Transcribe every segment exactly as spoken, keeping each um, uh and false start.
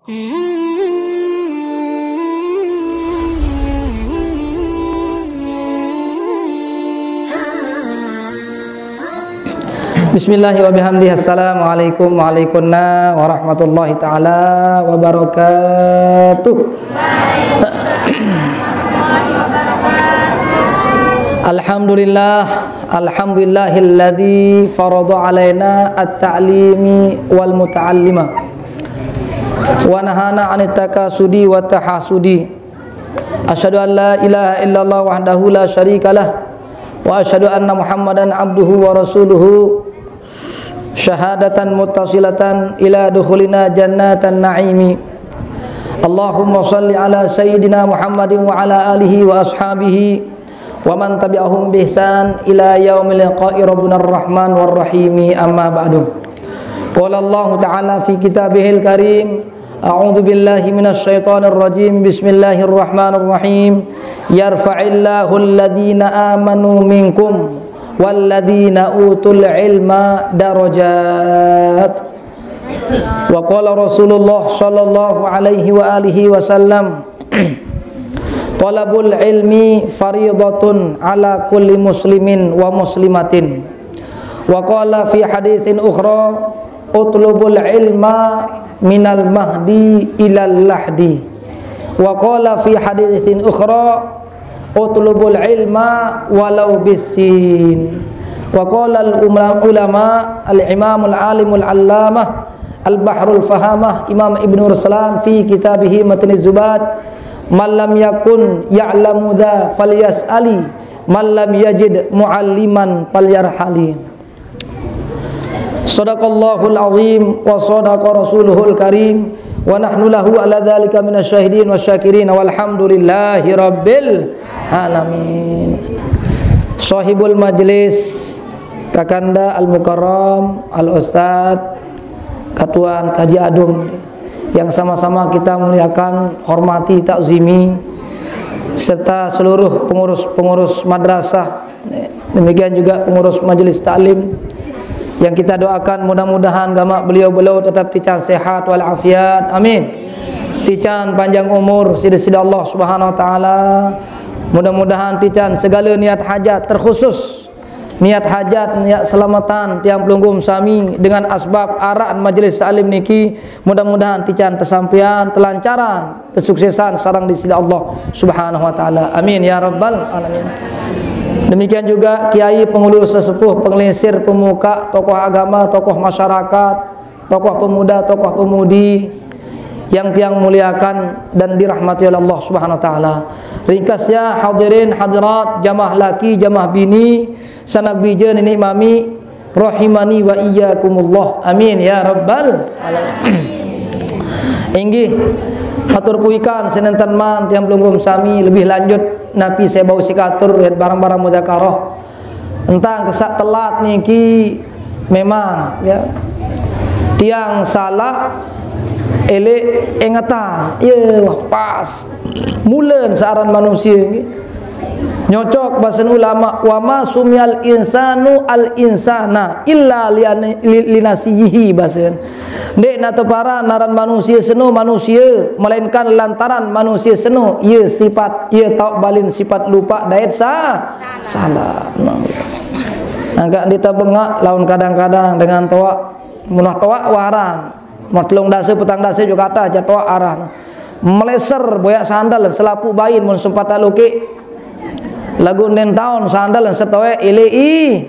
Bismillahi wa bihamdihi. Assalamualaikum wa alaikunna warahmatullahi taala wabarakatuh. Alhamdulillah, alhamdulillahilladzi farada alaina at-ta'limi wal muta'allima wa nahana anit takasudi wa tahasudi. Asyhadu an la ilaha illallah wahdahu la syarikalah, wa asyhadu anna Muhammadan abduhu wa rasuluhu, syahadatan muttasilatan ila dukhulina jannatan na'imi. Allahumma salli ala sayyidina Muhammadin wa ala alihi wa ashabihi wa man tabi'ahum bi ihsan ila yaumil liqa'i rabbina rahman war rahimi, amma ba'du. Qala Allahu ta'ala fi kitabihil karim, a'udzu billahi minasy syaithanir rajim. Bismillahirrahmanirrahim. Yarfa'illahu alladhina amanu minkum walladhina utul ilma darajat. Wa qala Rasulullah sallallahu alaihi wa alihi wasallam, talabul ilmi faridatun ala kulli muslimin wa muslimatin. Wa qala fi haditsin ukhra, utlubul ilma minal mahdi ilal lahdi. Wa qala fi haditsin ukhra, utlubul ilma walau bissin. Wa qala al ulama, al imamul alimul allamah al bahrul fahamah Imam Ibnu Ruslan fi kitabihi Matniz Zubad, man lam yakun ya'lamu dza falyas'ali, man lam yajid mu'alliman falyarhali. Sadaqallahul azim wa sadaqa rasuluhul karim, wa nahnu lahu ala dzalika minasy syahidin wasyakirin, walhamdulillahi rabbil alamin. Sahibul majlis, Kakanda Al Mukarram, Al Ustadz Katuan Kaji Adung, yang sama-sama kita muliakan, hormati, takzimi, serta seluruh pengurus-pengurus madrasah, demikian juga pengurus majelis taklim, yang kita doakan mudah-mudahan gamak beliau-beliau tetap tican sehat wal afiat. Amin. Tican panjang umur sida-sida Allah Subhanahu wa taala. Mudah-mudahan tican segala niat hajat, terkhusus niat hajat, niat selamatan tiang pelungguh sami dengan asbab arahan majelis taklim niki, mudah-mudahan tican tersampean, terlancaran, tersuksesan sareng di sida Allah Subhanahu wa taala. Amin ya rabbal alamin. Demikian juga kiai, pengulu sesepuh, penglingsir, pemuka, tokoh agama, tokoh masyarakat, tokoh pemuda, tokoh pemudi yang tiang muliakan dan dirahmati oleh Allah Subhanahu wa taala. Ringkasnya, hadirin hadirat, jamaah laki, jamaah bini, sanak bija, nini mami, rahimani wa iyyakumullah. Amin ya rabbal alamin. Inggih, atur puikan sinenten man tiang pelungguh sami, lebih lanjut napi saya bau sikatur barang-barang muzakarah. Entang kesak telat niki memang, ya. Tiang salah, elek ingetan. Ya, wah, pas. Mulen searan manusia niki. Nyocok bahasan ulama, wa ma sumiyal insanu al insana illa lian- li- linasiyihi, bahasan. Ndik na teparan naran manusia seno manusia, melainkan lantaran manusia seno, ia sifat, ia tauk balin sifat lupa dait sa- salah. Angkat dita bengak laun kadang-kadang dengan toak, munah toak waran. Mun telung dasa, petang dasa juga kata aja toak aran. Meleser boyak sandal selapu bain mun sempat tak lukik. Lagu nden taun sandal setoek ilei.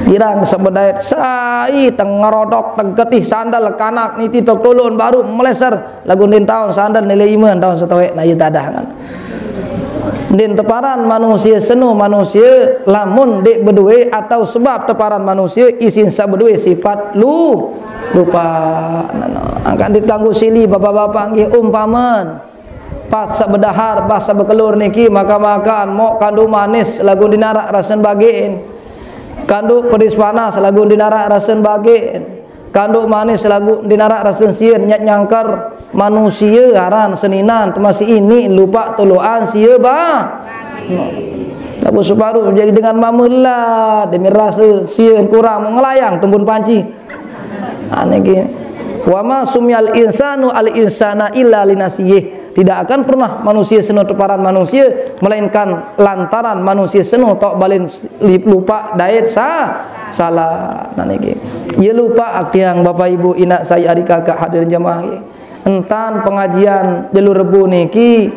Girang sebedait sai tengerodok tegetih sandal kanak niti tok tulun baru meleser. Lagu nden taun sandal nilai iman taun setoek na iya tadah kan. Nden teparan manusia seno manusia lamun dek bedue atau sebab teparan manusia isin sebedue sifat lu- lupa. Angkat ditangguh sili bapak-bapak nggih umpaman. Pas sebedahar, pas sebekelur niki maka-makaan mok kanduk manis lagu dinarak rasen bagiin. Kanduk pedis panas lagu dinarak rasen bagiin. Kanduk manis lagu dinarak rasen sieun nyat nyangker. Manusia aran seninan temasi ini lupa tuluan sia ba. Lagu separuh jadi dengan mamela demi rasa sieun kurang mau ngelayang tembun panci. Aneh gini. Wa ma sumiyal insanu al insana illa linasiyih. Tidak akan pernah manusia seno teparan manusia, melainkan lantaran manusia seno tok balen li-, lupa dait sa-, salah. Nah, niki. Ye lupa, tiang, Bapak Ibu, inak sai, adik kakak, hadirin jemaah, nggih. Entan pengajian jelo Rebo niki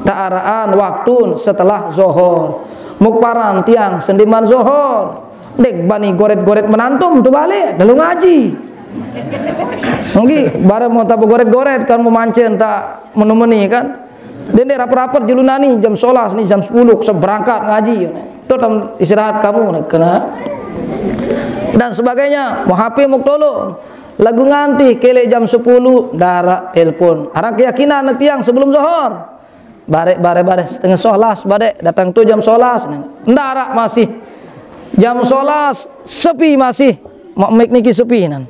tak araan waktu setelah zohor. Muk paran tiang sendeman zohor. Dek bani goret-goret menantum tu balik, lalu ngaji. Nggih, bareng mau tak begoret-goret kan, memancen tak menumeni kan. Dende rapet-rapet julunani jam sebelas ni, jam sepuluh seberangkat ngaji. Tuh tam istirahat kamu, kena. Dan sebagainya, mau H P mau tolong. Lagu nganti kelek jam sepuluh, darak telepon. Arang keyakinan tiang sebelum zohor. Barek, barek, barek setengah sebelas, barek datang tu jam sebelas. Darak masih. Jam sebelas, sepi masih. Mak mik niki sepi nan.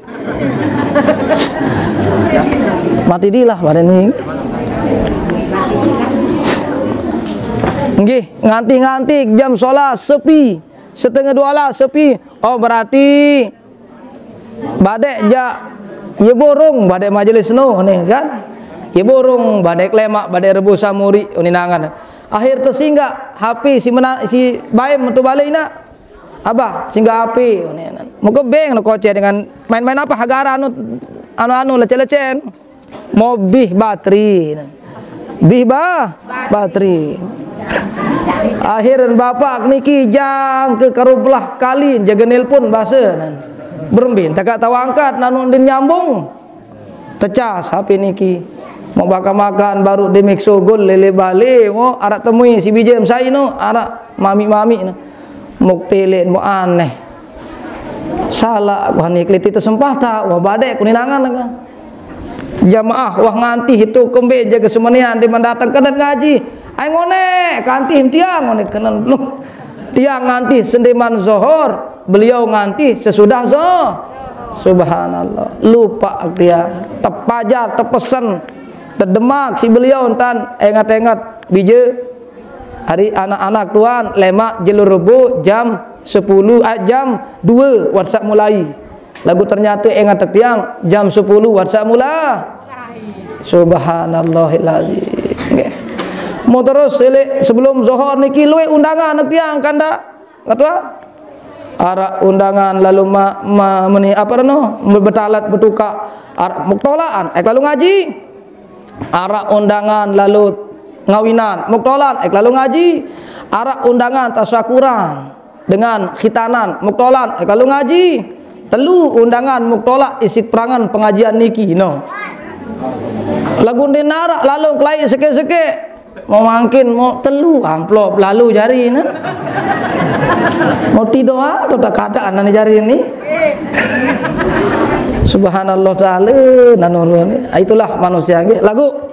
Mati dilah pada ni. Nggih, nganti-nganti jam sebelas sepi. Setengah dua belas sepi. Oh, berarti badek jak ye borong, badek majelis no ni kan. Ye borong, badek lemak, badek Rebo Samuri, uninangan. Akhir tesinggah H P si mena-, si baim tu balik nak. Abah, singgah H P, uninangan. Muka beng no kocek dengan main-main apa hagara anu, anu-anu lecen-lecen. Mau bih bateri. Bih bah, bateri. Akhir bapak niki jang ke karubelah kali jaga nelpon bahasa nan. Berembin, tak tahu angkat, nanu din nyambung. Tecas H P niki. Mau makan-makan baru demik sogol lele balik, mau arak temui si bijem sai no, arak mami-mami no. Muk telepon, mau aneh. Salah, wah ni keliti tersempah tak, wah badek kuninangan kan. Jamaah, wah nganti itu kembe jaga semenian di mendatang kena ngaji. Ai ngone, kanti tiang ngone kena. Tiang nganti sendeman zohor, beliau nganti sesudah zohor. Subhanallah, lupa dia. Tepajar, tepesen, terdemak si beliau entan engat-engat bije. Hari anak-anak tuan, lemak jelo Rebo jam sepuluh, ah, jam dua WhatsApp mulai. Lagu ternyata engat tiang jam sepuluh WhatsApp mula. Subhanallahil azim. Nggih. Mau terus silik sebelum zohor niki luwih undangan tiang kandak. Ngetua? Arak undangan lalu ma, ma, meni apa reno? Betalat betuka. Arak muktolaan, eh, lalu ngaji. Arak undangan lalu ngawinan, muktolan, eh, lalu ngaji. Arak undangan tasyakuran dengan khitanan, muktolan, eh, lalu ngaji. Telu undangan muktolak isi perangan pengajian niki, no. Lagu ndi narak lalu kelai seke-seke. Mau mangkin, mau telu amplop lalu jari, nah. Mau tidur, ah, kota kada anak jari ni. Subhanallah ta'ala, nanurun. Ah, itulah manusia, nggih. Lagu.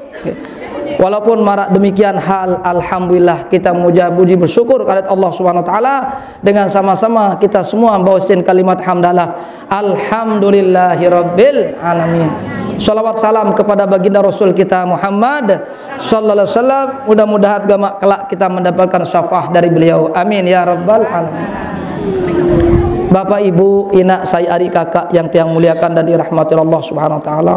Walaupun marak demikian hal, alhamdulillah, kita muja puji bersyukur kepada Allah Subhanahu wa taala dengan sama-sama kita semua bawa kalimat hamdalah. Alhamdulillahirabbil alamin. Salawat salam kepada baginda Rasul kita Muhammad sallallahu alaihi wasallam. Mudah-mudahan gamak kelak kita mendapatkan syafaat dari beliau. Amin ya rabbal alamin. Bapak, Ibu, inak sai, adik kakak yang tiang muliakan dan dirahmati Allah Subhanahu wa taala.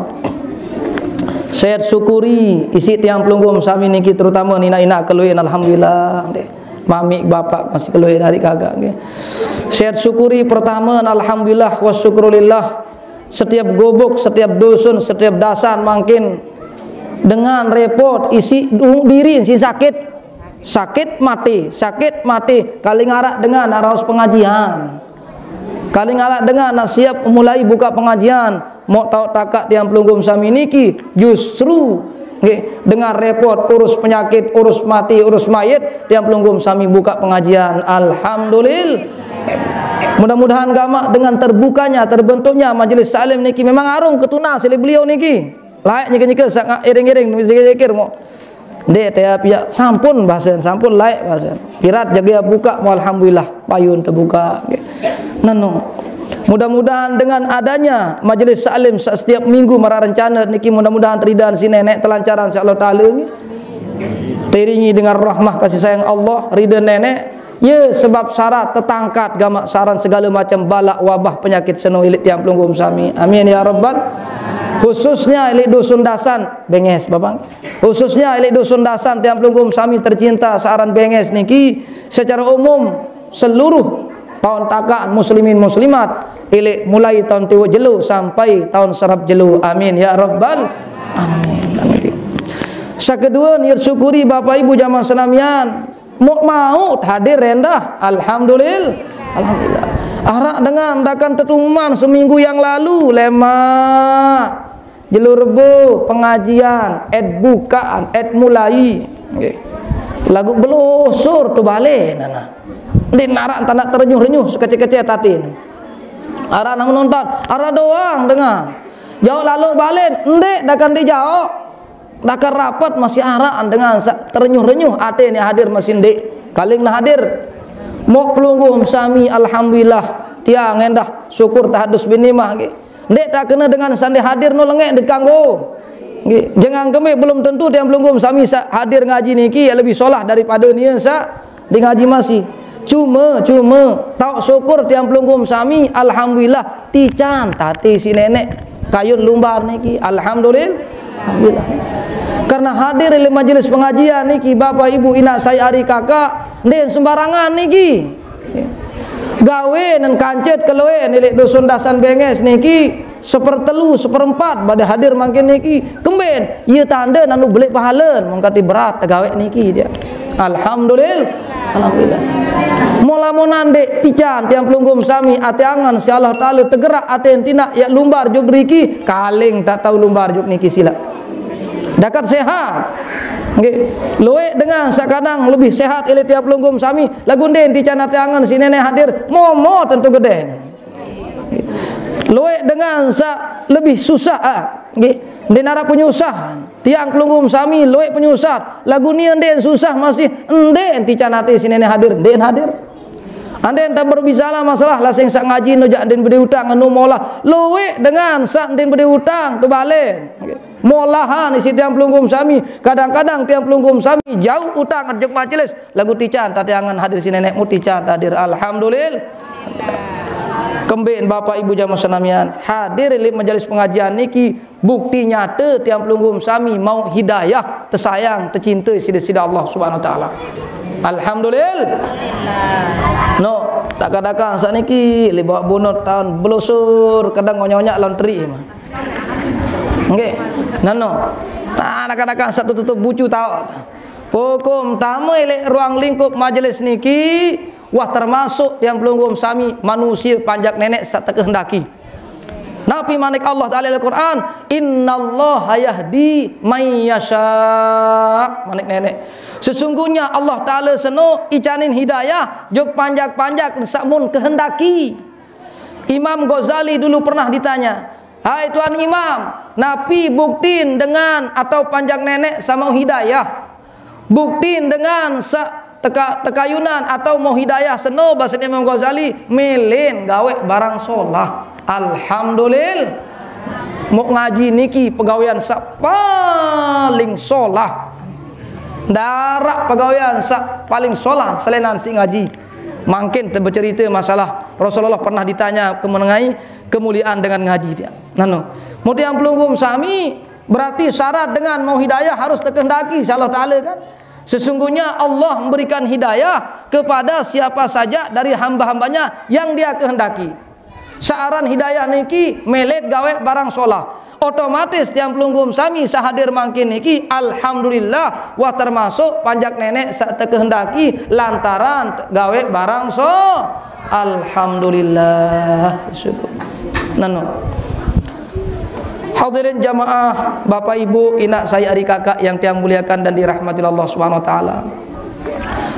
Saya syukuri isi tiang pelungguh sami niki, terutama inak-inak keluin, alhamdulillah. Mamik bapak masih keluin, adik kakak, nggih. Saya syukuri pertama, alhamdulillah wa syukrulillah. Setiap gubuk, setiap dusun, setiap dasan mangkin dengan repot isi du-, diri si sakit. Sakit mati, sakit mati. Kali ngarak dengan raos pengajian. Kali ngarak dengan nak siap mulai buka pengajian. Mok tau takak tiang pelungguh sami niki justru, nggih, dengan repot urus penyakit, urus mati, urus mayit, tiang pelungguh sami buka pengajian. Alhamdulillah. Mudah-mudahan gamak dengan terbukanya, terbentuknya majelis salim niki memang arung ketunas oleh beliau niki. Laik nyeke-nyeke sak iring-iring zikir-zikir mo. Dek, teh, pia sampun bahasan, sampun laik bahasan. Pirat jaga buka mo, alhamdulillah, payun terbuka. Nano. Mudah-mudahan dengan adanya majelis salim sa-, setiap minggu marak rencana niki, mudah-mudahan ridha si nenek, telancaran si Allah Taala nggih. Teringi dengan rahmah kasih sayang Allah, ridha nenek, Ye sebab sarat tetangkat gamak saran segala macam balak wabah penyakit seno ilik tiang pelungguh sami. Amin ya rabbal. Khususnya ilik dusun dasan Benges, Bapak. Khususnya ilik dusun dasan tiang pelungguh sami tercinta searan Benges niki secara umum seluruh taun takak muslimin muslimat ilik mulai taun tiwuk jelo sampai taun serap jelo. Amin ya rabbal alamin. Amin. Sekedua, nir syukuri Bapak Ibu jamaah senamian. Mok mau hadir rendah. Alhamdulillah. Alhamdulillah. Arak dengan dakan tetuman seminggu yang lalu, lemak. Jelo Rebo pengajian, et bukaan, et mulai. Nggih. Lagu belosor tu balen nana. Ndeq narak tanak terenyuh-renyuh sekecil-kecil tatin. Arak nang nonton, arak doang dengan. Jauh lalu balen, ndeq dakan dijauh. Dakar rapat masih araan dengan sa-, terenyuh-renyuh ate ni hadir masih ndeq. Kaling nah hadir. Mok pelungguh sami, alhamdulillah. Tiang endah syukur tahadus bin nimah nggih. Ndeq tak kena dengan sande hadir no lengek ndeq kanggo. Nggih, jengang kembe belum tentu tiang pelungguh sami sa-, hadir ngaji niki ya lebih solah daripada nia sa di ngaji masih. Cuma, cuma, tauk syukur tiang pelungguh sami, alhamdulillah, tican tati si nenek kayun lumbar niki. Alhamdulillah. Alhamdulillah. Karena hadir di majelis pengajian niki, Bapak Ibu, inak saya ari kakak, ndeq sembarangan niki. Gawe nen kancet keloe nilik dusun dasan Benges niki, sepertelu, seperempat bade hadir mangkin niki. Kemben, ye tande nanu belik pahalen, mengkati berat tegawe niki dia. Alhamdulillah. Alhamdulillah. Mola monande ican tiang pelungguh sami ate angen si Allah Taala tegerak ate tindak yak lumbar juk deriki, kaling tak tahu lumbar juk niki sila. Dakat sehat. Nggih. Luek dengan sakadang lebih sehat ile tiang pelungguh sami, lagu nden tican ate angen si nenek hadir, momo tentu gedeng. Luek dengan sa lebih susah, ah, nggih. Ndeq narak penyusah. Tiang pelungguh sami luek penyusah. Lagu ni ndeq susah masih, ndeq tican ate si nenek hadir, ndeq hadir. Anden tak berbicara masalah lasing sak ngaji no jak ndeq bedi utang anu molah. Luek dengan sak ndeq bedi utang tu balen. Nggih. Molahan isi tiang pelungguh sami. Kadang-kadang tiang pelungguh sami jauh utang juk majelis. Lagu tican tati angen hadir si nenekmu tican hadir. Alhamdulillah. Kemben Bapak Ibu jamaah senamian hadir lip majelis pengajian niki bukti nyata tiang pelungguh sami mau hidayah, tesayang, tecinte sida-sida Allah Subhanahu wa taala. Alhamdulillah. No, dakang-dakang saniki lip bawa bunut taun belosor kadang ngonyak-ngonyak lawan teri mah. Nggih. Nano. Ah, dakang-dakang satu tutup bucu taun. Hukum tame lek ruang lingkup majelis niki, wah termasuk tiang pelungguh sami manusia panjak nenek sak tekehendaki. Napi manik Allah Taala Al-Quran, "Innallaha yahdi may yasha." Manik nenek. Sesungguhnya Allah Taala seno icanin hidayah juk panjak-panjak sak mun kehendaki. Imam Ghazali dulu pernah ditanya, "Hai Tuan Imam, napi buktin dengan atau panjak nenek sama hidayah?" Buktin dengan sa-, teka-, tekayunan atau mau hidayah seno, bahasa Imam Ghazali, melen gawe barang solah. Alhamdulillah. Mok ngaji niki pegawean sa paling solah. Darak pegawean sa paling solah selenan si ngaji. Mangkin te becerita masalah Rasulullah pernah ditanya ke mengenai kemuliaan dengan ngaji dia. Nano, mutiang pelungguh sami, berarti syarat dengan mau hidayah harus tekehendaki si Allah Taala, kan? Sesungguhnya Allah memberikan hidayah kepada siapa saja dari hamba-hambanya yang Dia kehendaki. Saaran hidayah niki melet gawe barang solah. Otomatis tiang pelungguh sami sahadir mangkin niki, alhamdulillah, wah termasuk panjak nenek sak tekehendaki lantaran gawe barang so. Alhamdulillah. Syukur. Nano. Hadirin jamaah, Bapak Ibu, inak saya ari kakak yang tiang muliakan dan dirahmati Allah Subhanahu wa taala.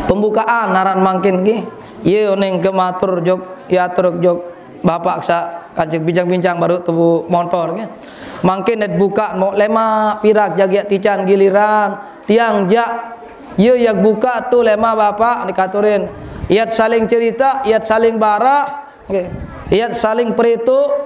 Pembukaan naran mangkin nggih. Ye oning ke matur jok, ya atur jok Bapak sa kajek bincang-bincang baru tubuh motor nggih. Mangkin det buka mo lemak pirak jagiak tican giliran tiang jak ye yak buka tu lemak Bapak dikaturin. Iat saling cerita, iat saling barak, nggih. Iat saling perituk.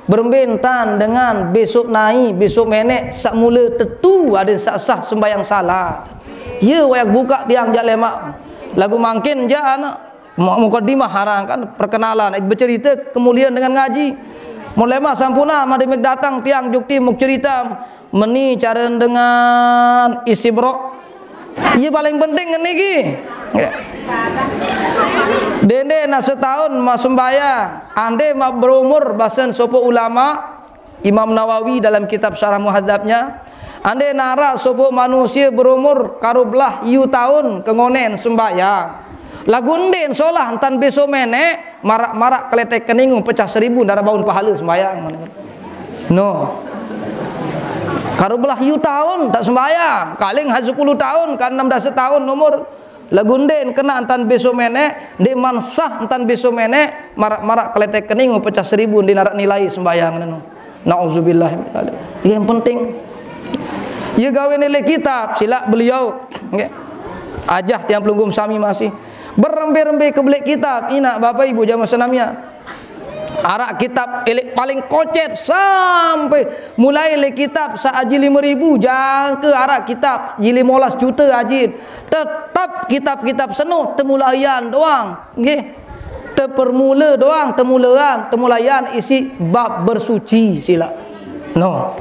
Berembe entan dengan besok nai, besok menek, sak mula tetu aden sak sah sembayang salat. Ye wayak buka tiang jak lemak. Lagu mangkin ja anak mu-, mukadimah arang kan perkenalan, eh, bercerita kemuliaan dengan ngaji. Mulai mah sampuna made meg datang tiang jukti muk cerita meni cara dengan istibro. Iya paling penting niki. Ya. Dende na setahun ma sembahyang, ande ma berumur basen sopo ulama, Imam Nawawi dalam kitab Syarah Muhadzabnya, ande nara sopo manusia berumur karubelah yu tahun kengonen sembahyang. Lagu ende solah entan beso menek, marak-marak keletek keningu pecah seribu dara baun pahala sembahyang. No. Karubelah yu tahun tak sembahyang, kaling ha sepuluh tahun, kan enam belas tahun umur. Lagu ende kena entan beso menek, ende mansah entan beso menek, marak-marak keletek keningu pecah seribu, ende narak nilai sembahyang nenu. Nauzubillah min dzalik. Yang penting, ya gawe nilai kitab, sila beliau. Nggih. Ajah tiang pelungguh sami masih berembe-rembe ke belik kitab, ina Bapak Ibu jamaah senamian. Arak kitab elik paling kocet sampai mulai le kitab sa aji lima ribu jangka arak kitab ji lima belas juta aji. Tetap kitab-kitab seno temulaian doang, nggih. Tepermula doang, temulaian, temulaian isi bab bersuci sila. No.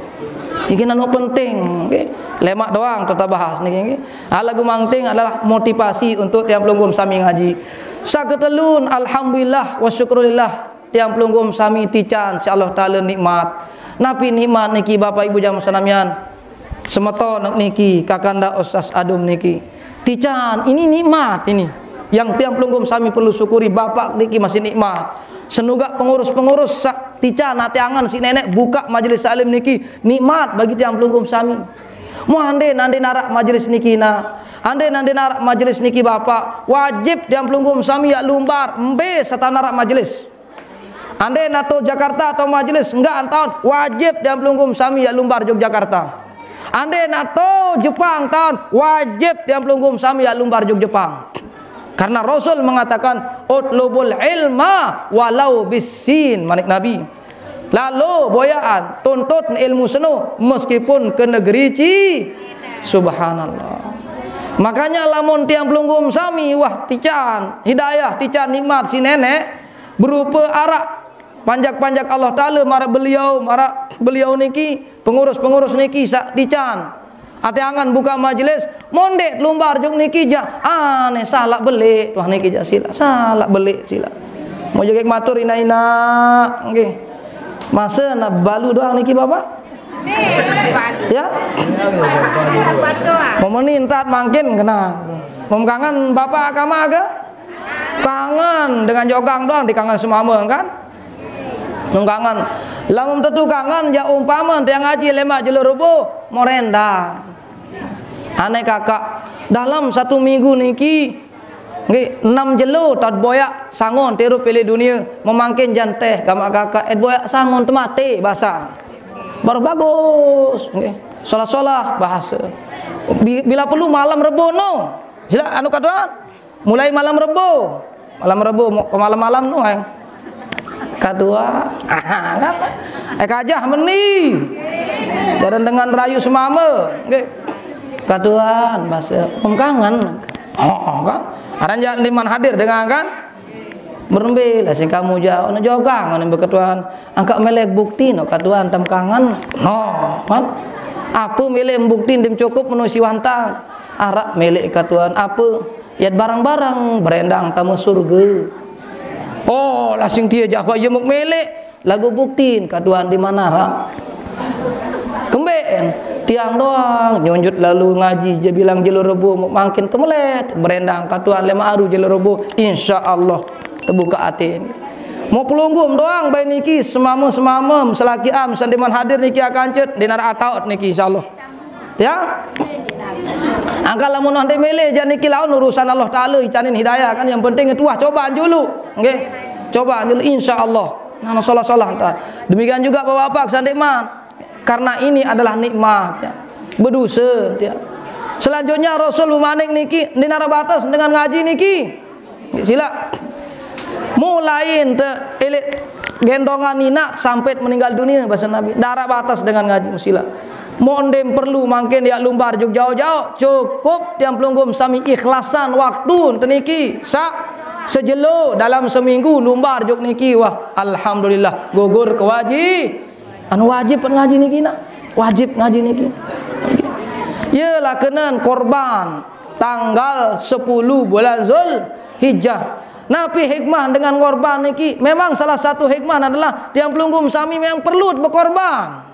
Niki nanu penting, nggih. Lemak doang tetap bahas niki, nggih. Hal lagu manting adalah motivasi untuk tiang pelungguh sami ngaji. Saketelun, alhamdulillah wa syukurillah, tiang pelungguh sami tican si Allah Taala nikmat. Napi nikmat niki Bapak Ibu jamaah senamian? Semeton niki, kakanda Ustaz Adum niki. Tican, ini nikmat ini. Yang tiang pelungguh sami perlu syukuri, bapak niki masih nikmat. Senugak pengurus-pengurus sa-, tican ate angan si nenek buka majelis salim niki nikmat bagi tiang pelungguh sami. Mu ande nande narak majelis niki na. Ande nande narak majelis niki bapak. Wajib tiang pelungguh sami yak lumbar. Embe serta narak majelis. Ande nato Jakarta atau majelis enggak antaun wajib tiang pelungguh sami yak lumbar Yogyakarta. Ande nato Jepang taun wajib tiang pelungguh sami yak lumbar Jog Jepang. Karena Rasul mengatakan, "Utlubul ilma walau bisin," manik Nabi. Lalu boyaan, tuntut ilmu seno meskipun ke negeri Ci. Subhanallah. Makanya lamun tiang pelungguh sami wah tican, hidayah tican nikmat si nenek berupa arak panjak-panjak Allah Taala marak beliau, marak beliau niki, pengurus-pengurus niki sak tican. Ate angan buka majelis, mondek lumbar juk niki ja. Aneh, salah belik, tuah niki ja sila, salah belik sila. Mau jegek matur ina-ina, nggih. Masa na balu doang niki, Bapak? Ya? Mau meni entat mangkin kena. Mau kangen Bapak kama ke? Kangen dengan jogang doang dikangen semama kan? Nung kangen. Lamun tetu kangen, ja umpama tiang ngaji lemak jelo rubuh, morenda. Aneh kakak, dalam satu minggu niki, nggih, enam jelo tad boyak sangon tirup pilih dunia, memangkin janteh gamak kakak, et boyak sangon temate bahasa. Baru bagus, nggih. Solah-solah bahasa. Bi-, bila perlu malam Rebo no. Sila anu katuan. Mulai malam Rebo. Malam Rebo mo-, ke malam-malam no, eh. Katua. Kan? Eh, kajah meni. Bareng dengan rayu semama. Nggih. Katuan bahasa pengkangen. Oh, kan? Aran ja liman hadir dengan kan? Berembe lah sing kamu ja ono jogang ono beketuan. Angka melek bukti no katuan tem kangen. No, kan? Apa melek bukti dem cukup menu siwantang. Arak melek katuan apa? Yat barang-barang berendang tamu surga. Oh, lah sing tia jahwa yemuk melek. Lagu buktin katuan di mana ram? Kemben tiang doang nyunjut lalu ngaji je bilang jelo Rebo mau mangkin kemelet berendang katuan lema aru jelo Rebo, insya Allah terbuka atin. Mau pelunggum doang bayi niki semama-semama selaki am sandiman hadir niki akan cet dinar ataut niki insya Allah. Ya. Angka lamun nanti milih jan niki laun urusan Allah Taala icanin hidayah kan yang penting itu ah coba julu. Nggih. Coba julu insya Allah. Nah, salah-salah entar. Demikian juga Bapak-bapak sandiman. Karena ini adalah nikmat ya. Berdosa ya. Selanjutnya Rasul memanik niki dinara batas dengan ngaji niki. Sila. Mulai ente ilik gendongan nina sampai meninggal dunia bahasa Nabi. Darah batas dengan ngaji sila. Mok ndem perlu mangkin yak lumbar juk jauh-jauh, cukup tiang pelungguh sami ikhlasan waktu enten niki. Sak sejelo dalam seminggu lumbar juk niki. Wah, alhamdulillah, gugur kewaji-, anu wajib ngaji niki nak. Wajib ngaji niki. Yelah kenen korban tanggal sepuluh bulan Zulhijjah. Napi hikmah dengan korban niki? Memang salah satu hikmah adalah tiang pelungguh sami memang perlu bekorban.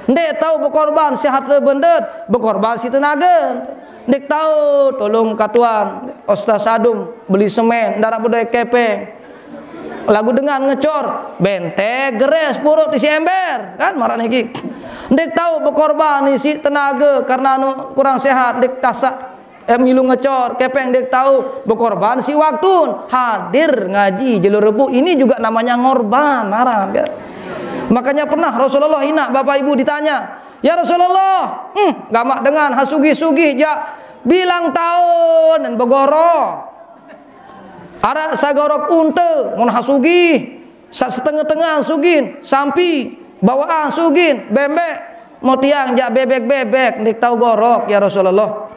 Ndik tau bekorban sihat le bendet, bekorban si tenaga. Ndik tau tolong katuan, Ustaz Adum, beli semen, ndak bedoe kepeng. Lagu dengan ngecor, bentek, geres, purut isi ember, kan marah niki. Ndik tau bekorban isi tenaga karena anu kurang sehat, ndik tasak, eh, milu ngecor, kepeng ndik tau bekorban si waktu hadir ngaji jelo Rebo. Ini juga namanya ngorban, aran, kan? Makanya pernah Rasulullah inak, Bapak Ibu, ditanya, "Ya Rasulullah, hmm, gamak dengan hasugih-sugih jak bilang taun dan begorok. Arak sagorok unta, mun hasugih, sak setengah-tengah sugih, sampi, bawaan sugih, bembek, motiang jak bebek-bebek, ndik tau gorok, ya Rasulullah."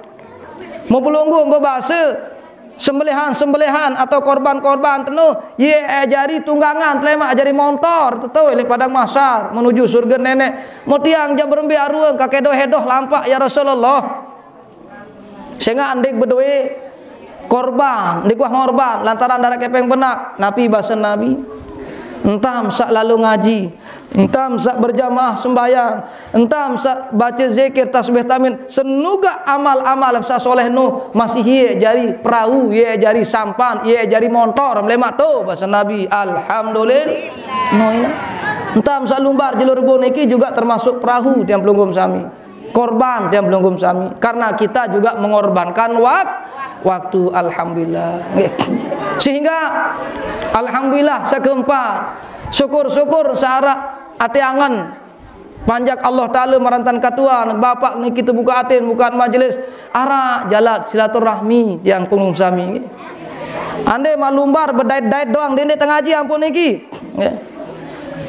Mau pelungguh bebasa, sembelihan-sembelihan atau korban-korban tenu, ye ajari tunggangan, telemak ajari montor, tetu, ilih padang mahsar, menuju surga nenek. Motiang jak berembe aruang, kake doh hedoh lampak, ya Rasulullah. Sehingga ndik bedoe korban, ndik wah ngorban, lantaran darak kepeng benak, napi basa Nabi? Entam sak lalu ngaji, entam sak berjamaah sembahyang, entam sak baca zikir, tasbih, tahmid, senuga amal-amal sak soleh nu masih ye jari perahu, ye jari sampan, ye jari montor, melemak tu basa Nabi, alhamdulillah. No, ina. Entam sak lumbar jelo Rebo niki juga termasuk perahu tiang pelungguh sami. Korban tiang pelungguh sami. Karena kita juga mengorbankan wak-, waktu, alhamdulillah. Nggih. Sehingga alhamdulillah sekeempat. Syukur-syukur searak ati angen. Panjak Allah Taala marantan katuan, bapak niki tebuka atin, buka majelis, arak jalan silaturahmi tiang pelungguh sami. Ande mak lumbar bedait-dait doang, dende tengaji ampun niki. Nggih.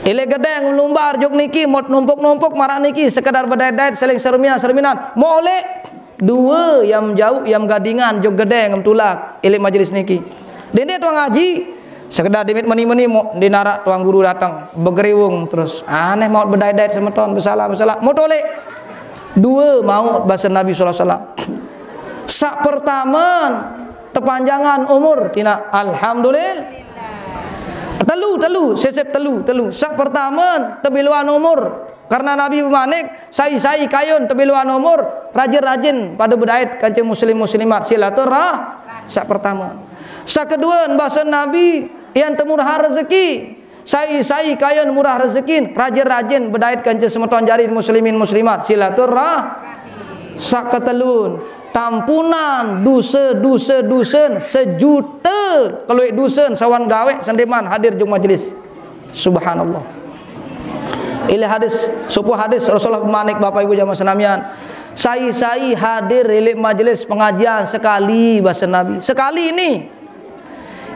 Ilih gedeng lumbar juk niki, mot numpuk-numpuk marak niki, sekedar bedait-dait, seling sermian-serminan. Molek dua yam jauh, yam gadingan, juk gedeng tulak. Ilih majelis niki. Dende tuang ngaji, sekedar dimit meni-meni, mo, di narak tuang guru datang, begeriwung terus. Aneh maut bedait-dait semeton, besalah-besalah. Mot olek dua maut basa Nabi sallallahu alaihi wasallam. Sak pertaman tepanjangan umur tina, alhamdulillah. Telu, telu, sesep telu, telu. Sak pertaman tebiluan umur. Karena Nabi bemanik, sai-sai kayun tebiluan umur, rajin-rajin pada bedait kanca muslim muslimat silaturah. Sak pertama. Sak kedua, basa Nabi, yang temurah rezeki. Sai-sai kayun murah rezeki, rajin-rajin bedait kanca semeton jari muslimin muslimat, silaturah. Sak ketelun, tampunan dusa-dusa dusun sejuta keluik dusun sawan gawe sendeman hadir jung majelis. Subhanallah. Ilih hadis, sopo hadis Rasulullah bemanik, Bapak Ibu jamaah senamian. Sai-sai hadir ilih majelis pengajian sekali, basa Nabi. Sekali ini.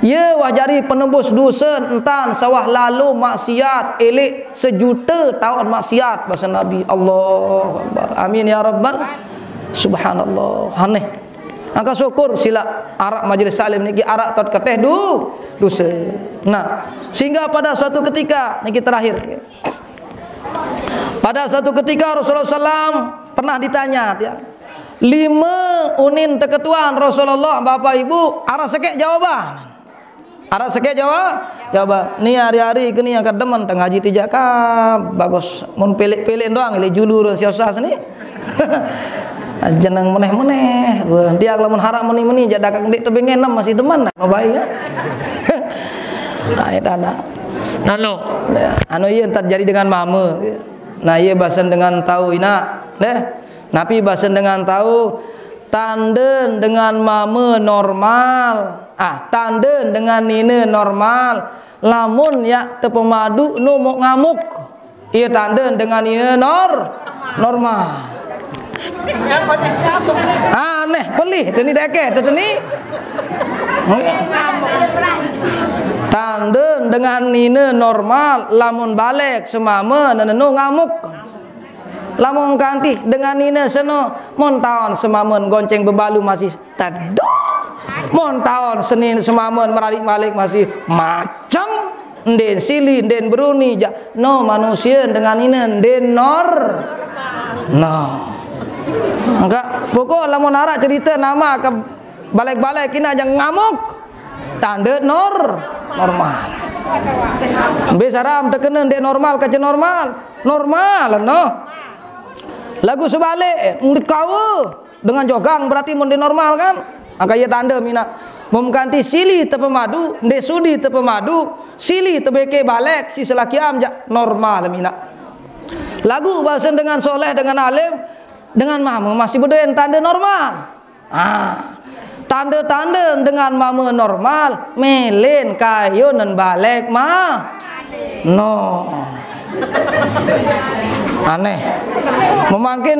Ye wah jari penebus dusun, entan sawah lalu maksiat, ilih sejuta taun maksiat, basa Nabi. Allahu Akbar. Amin ya Rabbal. Subhanallah. Aneh. Angka syukur sila arak majelis taklim niki arak tot keteh du, dusa. Nah, sehingga pada suatu ketika, niki terakhir. Pada suatu ketika Rasulullah sallam pernah ditanya, ya, lima unin teketuan Rasulullah, Bapak Ibu, arak sekek jawaban. Arak sekek jawab, jawaban. Ni hari-hari ke ni yang kademen tengah haji tijak ka, bagus. Mun pelek-pelek doang, ilih julu run si Ustaz ni. Jeneng meneh-meneh. Wah, dia kalau mun harap meni-meni, jak dakak dik tebing enam masih teman. Mau baik kan? Nah, itu ada. Nano. Anu iya entar jadi dengan mama. Nah, iya basen dengan tahu inak. Deh. Napi basen dengan tahu, tanden dengan mama normal. Ah, tanden dengan nina normal. Lamun yak tepemadu no mok ngamuk. Iya, tanden dengan nina nor-, normal. Aneh, pelih, teni deke, teni. Tanden dengan nina normal, lamun balek semama, nenenu ngamuk. Lamun kanti dengan nine seno, mon taon semamen gonceng bebalu masih tedong. Mon taon senin semamen merariq malik masih macem. Nden sili, nden beruni, jaq no manusie dengan nine, nden nor. No. Enggak, pokok lamun araq cerite nama ke balik-balik kina jaq ngamuk. Tande nor, normal. Mbe saram tekene ndeq normal kance normal? Normal, no. Laguq sebalik, ndeq kawe dengan jogang berarti mun ndeq normal kan? Angkaq ie tande minaq. Mun kanti sili tepemadu, ndeq sudi tepemadu, sili tebeke balik, si selakiam jaq normal minaq. Laguq basen dengan soleh, dengan alim, dengan mame masih bedoen tande normal. Ah, tande-tande dengan mame normal, melen kayunen balik mah. No. Aneh. Memangkin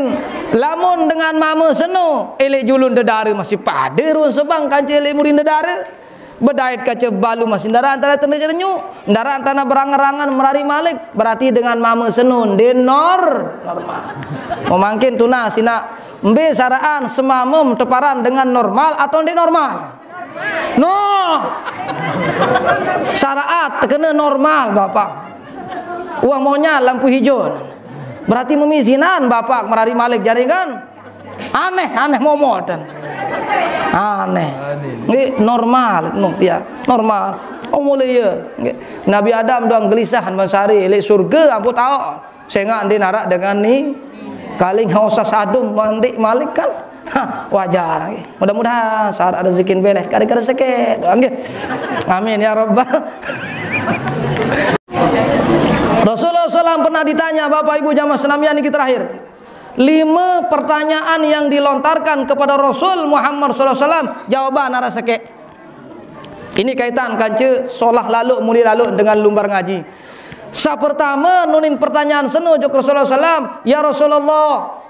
lamun dengan mame seno, eleq julun dedare masih pade ruen sebang kance eleq murin dedare. Bedait kace balu masih ndaraq tanda-tanda jerenyuq, ndaraq tanda berangen-rangen merariq malik, berarti dengan mame seno ndeq nor-, normal. Memangkin tunas inaq, mbe saraqan semamem teparan dengan normal atau ndeq normal? No. Saraqat tekene normal, Bapak. Uah monyaq lampu hijau. Berarti memizinan Bapak merariq malik jari kan? Aneh, aneh momot. Aneh. Nggih, normal, no, ya, normal. Oh, mulai ya. Nggih. Nabi Adam doang gelisah ban sehari, leq surge ampun taoq. Sengaq ndeq naraq dengan ni, kaling haus sadum mandiq malik kan? Hah, wajar. Nggih. Mudah-mudahan syarat rezekin beleh, kade-kade seket. Doang, nggih. Amin ya rabbal. Rasulullah sallam pernah ditanya, Bapak Ibu jamaah senamian niki terakhir. Lime pertanyaan yang dilontarkan kepada Rasul Muhammad sallallahu alaihi wasallam, jawaban araq sekeq. Ini kaitan kance solah laluq, mulie laluq dengan lumbar ngaji. Saq pertame nunin pertanyaan seno ojok Rasulullah sallam, "Ya Rasulullah,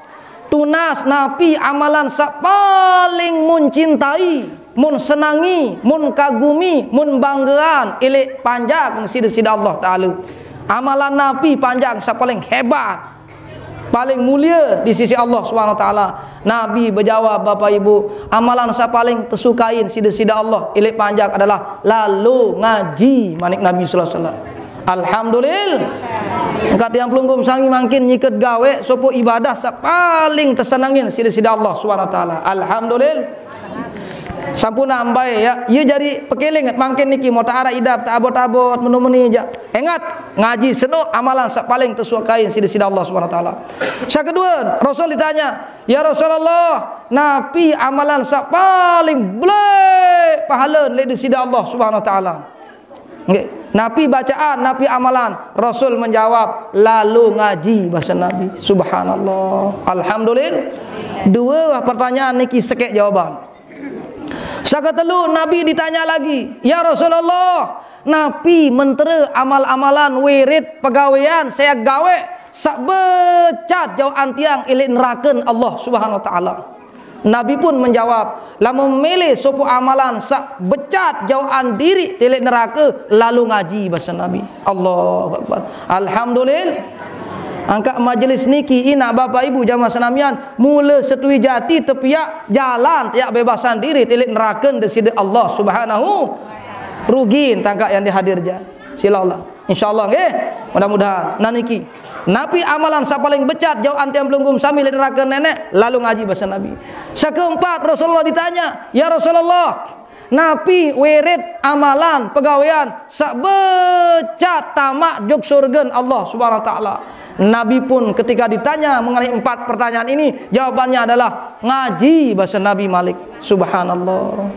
tunas napi amalan saq paling mun cintai, mun senangi, mun kagumi, mun banggean, ileq panjak side-side Allah Taala? Amalan napi panjak saq paling hebat?" Paling mulie di sisi Allah Subhanahu wa Taala. Nabi bejawab, Bapak Ibu, amalan saq paling tesukain side-side Allah, ileq panjak adalah lalo ngaji, manik Nabi sallallahu alaihi wasallam. Alhamdulillah. Engkaq tiang pelungguh sami mangkin nyiket gaweq sopoq ibadah saq paling tesenengin side-side Allah Subhanahu wa Taala. Alhamdulillah. Sampun ambai, ya, ie jari pekeling mangkin niki, mauq araq idap teabot-abot, menu-meni jaq. Engat, ngaji seno amalan saq paling tesukain side-side Allah Subhanahu wa Taala. Saq kedue, Rasul ditanya, "Ya Rasulullah, napi amalan saq paling beleq pahale leq side Allah Subhanahu wa Taala?" Nggih. Napi bacaan, napi amalan? Rasul menjawab, "Lalo ngaji," base Nabi. Subhanallah. Alhamdulillah. Due pertanyaan niki sekeq jawaban. Saq ketelu, Nabi ditanya lagi, "Ya Rasulullah, napi mentere amal-amalan, wirid, pegawean, saq gaweq saq becat jaoqan tiang ileq neraken Allah Subhanahu wa Taala?" Nabi pun menjawab, "Lamun mele sopoq amalan saq becat jaoqan diriq ileq nerake, lalo ngaji," base Nabi. Allahu Akbar. Alhamdulillah. Angkaq majelis niki, inaq bapak ibu jamaah senamian, mule setui jati tepiaq jalan, tepiaq bebasan diriq ileq neraken Deside Allah Subhanahu. Rugi tangkaq yang dihadir ja. Sila Allah. Insyaallah, nggih. Mudah-mudahan. Nah niki. Napi amalan saq paling becat jaoqan tiang pelungguh sami leq nerake neneq? Lalo ngaji base Nabi. Saq keempat, Rasulullah ditanya, "Ya Rasulullah, napi wirid amalan pegawean saq becat tamaq jok surgen Allah Subhanahu wa Taala?" Nabi pun ketika ditanya mengenai empat pertanyaan ini, jawabannya adalah ngaji base Nabi malik. Subhanallah.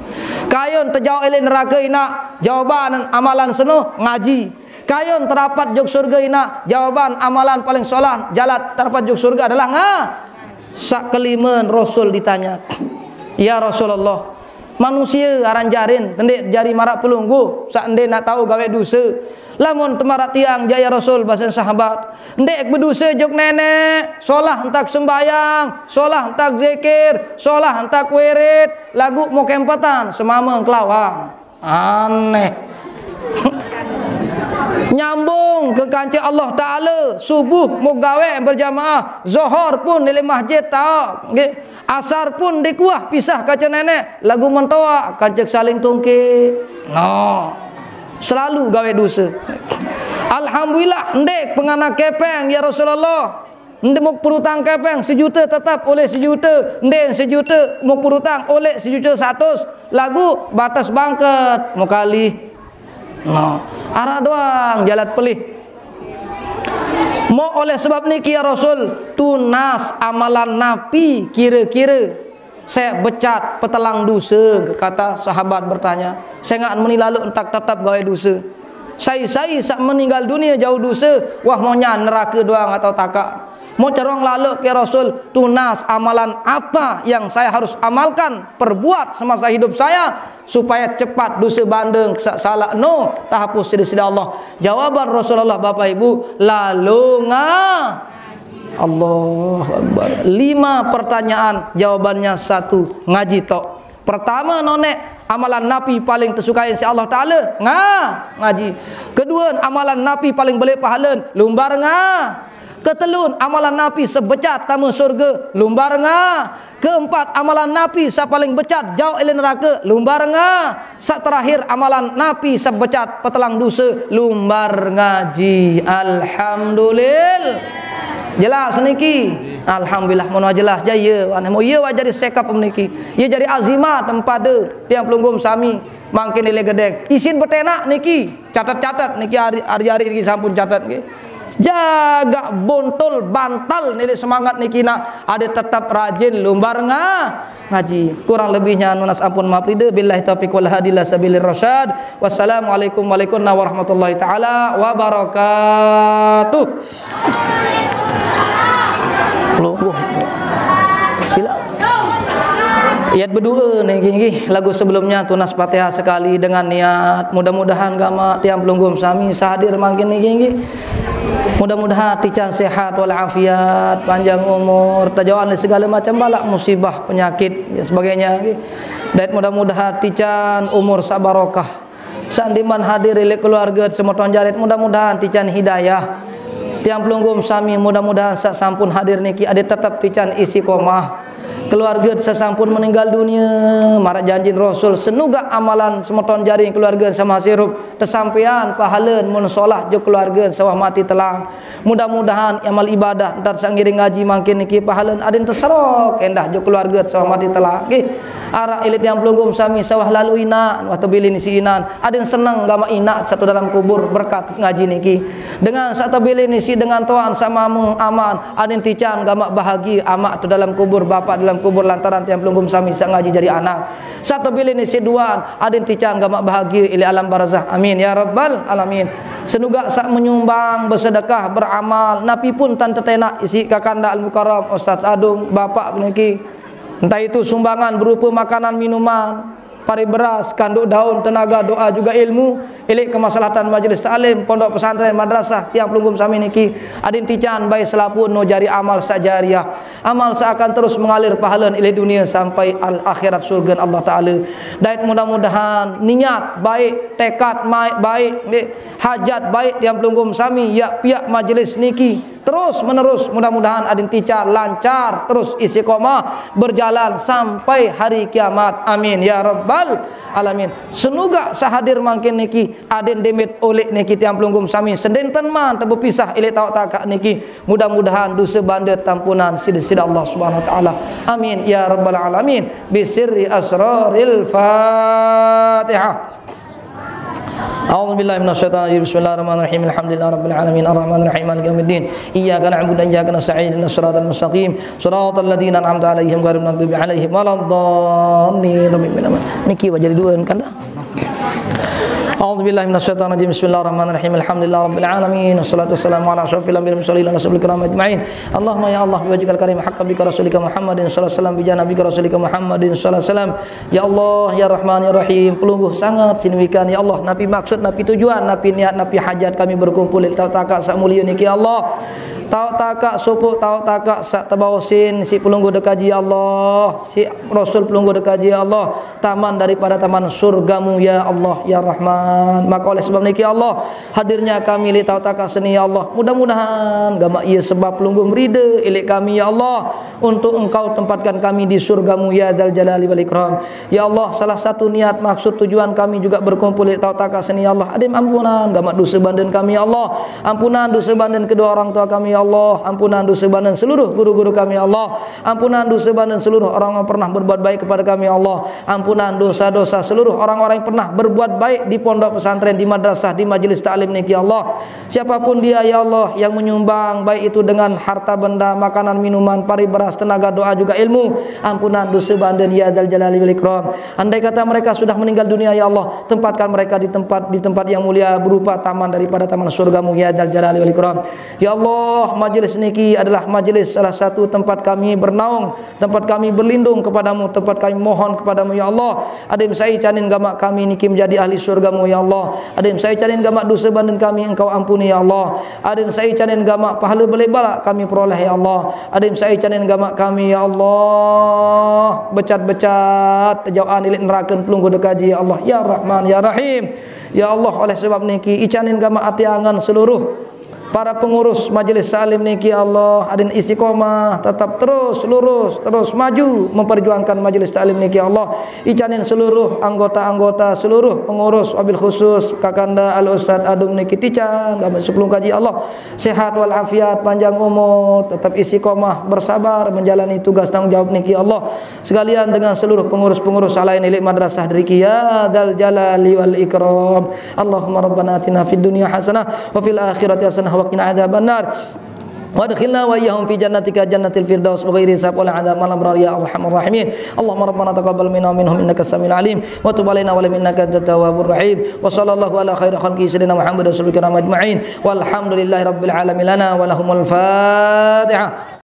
Kayun tejaoq ileq nerake inaq, jawaban amalan seno ngaji. Kayun terapat jok surge inaq, jawaban amalan paling solah jalan terapat jok surge adalah nga-, saq kelime Rasul ditanya, "Ya Rasulullah, manusie aran jarin ndeq jari maraq pelungguh saq ndeq naq tao gaweq duse? Lamun temaraq tiang," jaq ya Rasul, basen sahabat, "ndeq beduse jok neneq, solah entak sembayang, solah entak zikir, solah entak wirid, laguq mokempetan semame kelawang." Aneh. Nyambung ke kance Allah Taala, subuh muk gawe berjamaah, zohor pun di masjid tao, nggih. Asar pun di kuah pisah kaca nenek, lagu mentoa kance saling tungke. No. Selalu gawe dosa. Alhamdulillah, ndeq pengana kepeng, ya Rasulullah. Ndeq muk perutang kepeng sejuta tetap oleh sejuta, ndeq sejuta muk perutang oleh sejuta satus. Lagu batas bangket, muk kalih. No, araq doang jalan pelih. Muk oleh sebab niki, ya Rasul, tunas amalan napi kire-kire? Saq becat petelang duse, kata sahabat bertanya. Sengaq meni lalo entak tetep gawe duse. Sai-sai saq meninggal dunie jauh duse, wah, mauq nyang nerake doang atau takaq. Mauq cerong lalo ke Rasul, tunas amalan apa yang saya harus amalkan, perbuat semasa hidup saya, supaya cepat duse bandeng saq salaq no tahapus siq Deside Allah. Jawaban Rasulullah, Bapak Ibu, lalo nga-, Allahu Akbar. Lima pertanyaan, jawabannya satu, ngaji tok. Pertama, noneq, amalan napi paling tesukain siq Allah Taala? Nga-, ngaji. Kedue, amalan napi paling beleq pahalen? Lumbar nga-. Ketelun, amalan napi sebecat tame surge? Lumbar nga-. Keempat, amalan napi saq paling becat jauq ile nerake? Lumbar nga-. Saq terakhir, amalan napi saq becat petelang duse? Lumbar ngaji. Alhamdulillah. Jelas niki? Alhamdulillah, mun jelas jaq, ye, aneh, mun ye wah jari sekep niki. Ye jari azimat tempade tiang pelungguh sami mangkin ile gedeng. Isin betenak niki. Catet-catet niki, ari-ari niki sampun catet niki. Jagaq bontul bantal niki semangat niki, nak, ade tetep rajin lumbar nga-, ngaji. Kurang lebihnya nunas ampun maaf rida. Billahi taufiq wal hadi ila sabilir rasyad. Wassalamualaikum warahmatullahi taala wabarakatuh. Pelungguh. Sila. Iat bedoe niki, nggih, lagu sebelumnya tunas Fatihah sekali dengan niat. Mudah-mudahan gamaq tiang pelungguh sami sahadir mangkin niki, nggih. Mudah-mudahan tican sehat wal afiat, panjang umur, tajauhan dari segala macam balak, musibah, penyakit, dan sebagainya, nggih. Dait mudah-mudahan tican umur saq barokah. Sandiman hadir leq keluarge semeton jari, mudah-mudahan tican hidayah. Tiang pelungguh sami, mudah-mudahan saq sampun hadir niki ade tetep tican istiqomah. Keluarge saq sampun meninggal dunie, maraq janjin Rasul, senugaq amalan semeton jari keluarge saq masih irup, tesampean pahalen mun solah jok keluarge saq wah mati telang. Mudah-mudahan amal ibadah ntar saq ngiring ngaji mangkin niki pahalen aden teserok endah jok keluarge saq wah mati telang. Nggih. Araq ilit tiang pelungguh sami saq wah lalo inaq, wah tebilin isiq inan. Aden seneng gamaq inaq saq to dalem kubur berkat ngaji niki. Dengan saq tebilin isiq dengan toan saq mame aman, aden tican gamaq bahagie amaq to dalem kubur, bapak dalem kubur lantaran tiang pelungguh sami saq ngaji jari anak. Saq tebilin isiq duan, aden tican gamaq bahagie ileq alam barzah. Amin ya rabbal alamin. Senugaq saq menyumbang, bersedekah, beramal, napi pun tan tetenak isiq Kakanda Al-Mukarram Ustaz Adung, bapak niki. Entah itu sumbangan berupa makanan, minuman, pari beras, kanduk daun, tenaga, doa, juga ilmu, ileq kemaslahatan majelis taklim, pondok pesantren, madrasah, tiang pelungguh sami niki, aden tican bae selapuq no jari amal saq jariah. Amal saq akan terus mengalir pahalen ileq dunie sampai al akhirat surgen Allah Taala. Dait mudah-mudahan niat baik, tekad mai-, baik, nggih, hajat baik tiang pelungguh sami, yaq piaq majelis niki terus menerus, mudah-mudahan aden tican lancar terus istiqomah berjalan sampai hari kiamat. Amin ya rabbal alamin. Senugaq saq hadir mangkin niki, aden demet oleq niki tiang pelungguh sami, sedenten man tebepisah ileq taoq takaq niki. Mudah-mudahan dose bande tampunan siq Deside Allah Subhanahu wa Taala. Amin ya rabbal alamin. Bisirri asraril Fatihah. A'udzu billahi minasyaitonir rajim. Bismillahirrahmanirrahim. Alhamdulillahirabbil alamin. Arrahmanirrahim. Maliki yaumiddin. Iyyaka na'budu wa iyyaka nasta'in. Ihdinas siratal mustaqim. Siratal ladzina an'amta 'alaihim ghairil maghdubi 'alaihim waladdallin. Amin. Niki wajah dua kan dah. A'udzu billahi minasyaitonir rajim. Bismillahirrahmanirrahim. Alhamdulillahirabbil alamin. Wassalatu wassalamu ala asyrafil anbiya'i wal mursalin ala sayyidil kiram ajma'in. Allahumma ya Allah, biwajhikal karim, haqqan bika rasulika Muhammadin sallallahu alaihi wasallam, bijah nabika rasulika Muhammadin sallallahu alaihi wasallam. Ya Allah, ya Rahman, ya Rahim, pelungguh sanget siq wikan, ya Allah, napi maksud, napi tujuan, napi niat, napi hajat kami berkumpul leq taoq takaq saq mulie niki, ya Allah. Taoq takaq sopoq, taoq takaq saq tebaosin siq pelungguh dekaji, ya Allah, siq Rasul pelungguh dekaji, ya Allah, taman daripada taman surgamu, ya Allah, ya Rahman. Maka oleh sebab niki ya Allah, hadirnya kami leq taoq taoq sini ya Allah, mudah-mudahan gamaq ie sebab pelungguh meride leq kami ya Allah, untuk Engkau tempatkan kami di surgamu ya Dzal Jalali wal Ikram. Ya Allah, salah satu niat, maksud, tujuan kami juga berkumpul leq taoq taoq sini ya Allah, adem ampunan gamaq dose banden kami ya Allah, ampunan dose banden kedua orang tua kami ya Allah, ampunan dose banden seluruh guru-guru kami ya Allah, ampunan dose banden seluruh orang yang pernah berbuat baik kepada kami ya Allah, ampunan dosa-dosa seluruh orang-orang yang pernah berbuat baik di pondok pesantren, di madrasah, di majelis taklim niki ya Allah. Siapapun dia ya Allah yang menyumbang, baik itu dengan harta benda, makanan, minuman, pari beras, tenaga, doa, juga ilmu, ampunan dose banden ya Dzal Jalali wal Ikram. Andai kata mereka sudah meninggal dunia ya Allah, tempatkan mereka di tempat, di tempat yang mulia berupa taman daripada taman surgamu ya Dzal Jalali wal Ikram. Ya Allah, majelis niki adalah majelis, salah satu tempat kami bernaung, tempat kami berlindung kepadamu, tempat kami mohon kepadamu ya Allah. Adem sai canin gamaq kami niki menjadi ahli surgamu ya Allah. Adem sai canin gamaq dose banden kami Engkau ampuni ya Allah. Adem sai canin gamaq pahala beleq balaq kami peroleh ya Allah. Adem sai canin gamaq kami ya Allah, becat-becat tejauqan leq nerake pelungguh dekaji ya Allah, ya Rahman ya Rahim. Ya Allah, oleh sebab niki icanin gamaq ate angen seluruh para pengurus majelis taklim niki ya Allah, adin istiqomah, tetap terus lurus, terus maju memperjuangkan majelis taklim niki ya Allah. Icanin seluruh anggota-anggota, seluruh pengurus, wabil khusus Kakanda Al Ustaz Adum niki tican gamaq sepelungguh kaji ya Allah, sehat wal afiat, panjang umur, tetap istiqomah, bersabar menjalani tugas tanggung jawab niki ya Allah. Sekalian dengan seluruh pengurus-pengurus lain leq madrasah driki ya Dzal Jalali wal Ikram. Allahumma rabbana atina fid dunya hasanah wa fil akhirati hasanah wa qina adzabannar. Wa adkhilna wa iyyahum fi jannatika jannatil firdaus bi ghairi hisab wala adzab, ma'al abrar ya arhamar rahimin. Allahumma rabbana taqabbal minna wa minhum innaka samiul alim, wa tub alaina wa alaihim innaka antat tawwabur rahim. Wa sallallahu ala khairi khalqi sayyidina Muhammad wa sahbihi ajma'in. Walhamdulillahi rabbil alamin, lana wa lahumul Fatihah.